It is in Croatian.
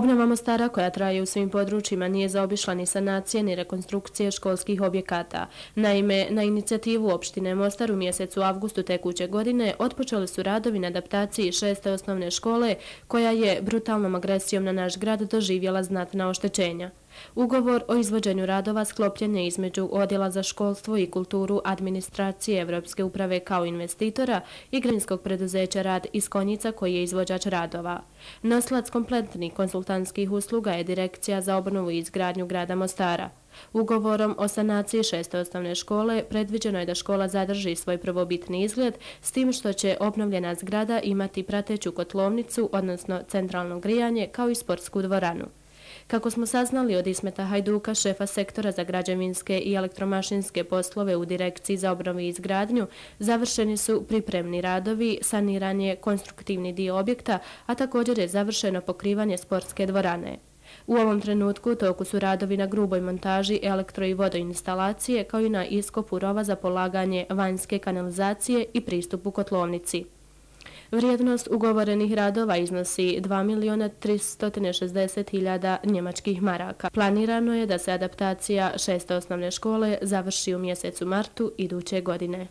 Obnova Mostara koja traje u svim područjima nije zaobišla ni sanacije ni rekonstrukcije školskih objekata. Naime, na inicijativu opštine Mostar u mjesecu avgustu tekuće godine otpočeli su radovi na adaptaciji 6. osnovne škole koja je brutalnom agresijom na naš grad doživjela znatna oštećenja. Ugovor o izvođenju radova sklopljen je između Odjela za školstvo i kulturu administracije Evropske uprave kao investitora i građevinskog preduzeća Rad iz Konjica koji je izvođač radova. Nosilac kompletnih konsultantskih usluga je Direkcija za obnovu i izgradnju grada Mostara. Ugovorom o sanaciji 6. osnovne škole predviđeno je da škola zadrži svoj prvobitni izgled s tim što će obnovljena zgrada imati prateću kotlovnicu, odnosno centralno grijanje, kao i sportsku dvoranu. Kako smo saznali od Ismeta Hajduka, šefa sektora za građevinske i elektromašinske poslove u Direkciji za obnovu i izgradnju, završeni su pripremni radovi, saniran je konstruktivni dio objekta, a također je završeno pokrivanje sportske dvorane. U ovom trenutku u toku su radovi na gruboj montaži elektro- i vodoinstalacije, kao i na iskopu rova za polaganje vanjske kanalizacije i pristupu kotlovnici. Vrijednost ugovorenih radova iznosi 2.360.000 njemačkih maraka. Planirano je da se adaptacija 6. osnovne škole završi u mjesecu martu iduće godine.